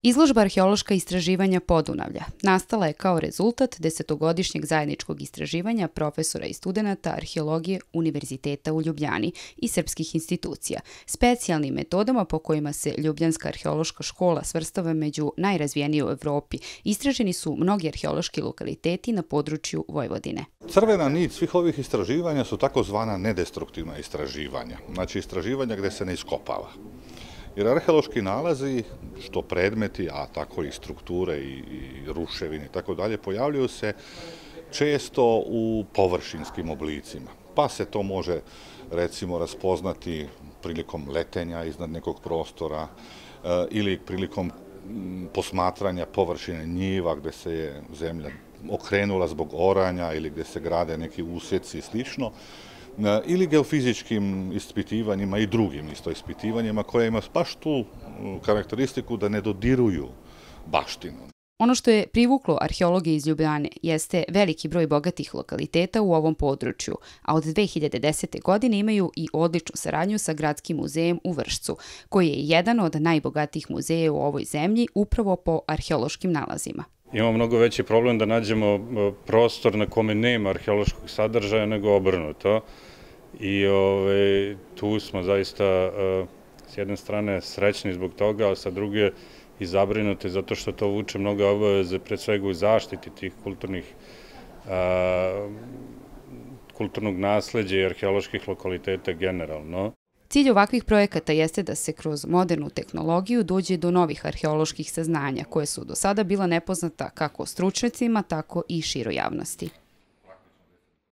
Izložba arheološka istraživanja Podunavlja nastala je kao rezultat desetogodišnjeg zajedničkog istraživanja profesora i studenata arheologije Univerziteta u Ljubljani i srpskih institucija, specijalnim metodama po kojima se Ljubljanska arheološka škola svrstava među najrazvijenije u Evropi. Istraženi su mnogi arheološki lokaliteti na području Vojvodine. Crvena nit svih ovih istraživanja su takozvana nedestruktivna istraživanja, znači istraživanja gde se ne iskopava. Jer arheološki nalazi, što predmeti, a tako i strukture i ruševine i tako dalje, pojavljuju se često u površinskim oblicima. Pa se to može, recimo, raspoznati prilikom letenja iznad nekog prostora ili prilikom posmatranja površine njiva gde se je zemlja okrenula zbog oranja ili gde se grade neki usjeci i slično, ili geofizičkim ispitivanjima i drugim isto ispitivanjima koje ima baš tu karakteristiku da ne dodiruju baštinu. Ono što je privuklo arheologe iz Ljubljane jeste veliki broj bogatih lokaliteta u ovom području, a od 2010. godine imaju i odličnu saradnju sa Gradskim muzejem u Vršcu, koji je jedan od najbogatijih muzeja u ovoj zemlji upravo po arheološkim nalazima. Imamo mnogo veći problem da nađemo prostor na kome nema arheološkog sadržaja nego obrnuto. I tu smo zaista s jedne strane srećni zbog toga, a sa druge i zabrinuti zato što to vuče mnoge obaveze, pre svega u zaštiti tih kulturnog nasleđa i arheoloških lokaliteta generalno. Cilj ovakvih projekata jeste da se kroz modernu tehnologiju dođe do novih arheoloških saznanja koje su do sada bila nepoznata kako stručnjacima, tako i široj javnosti.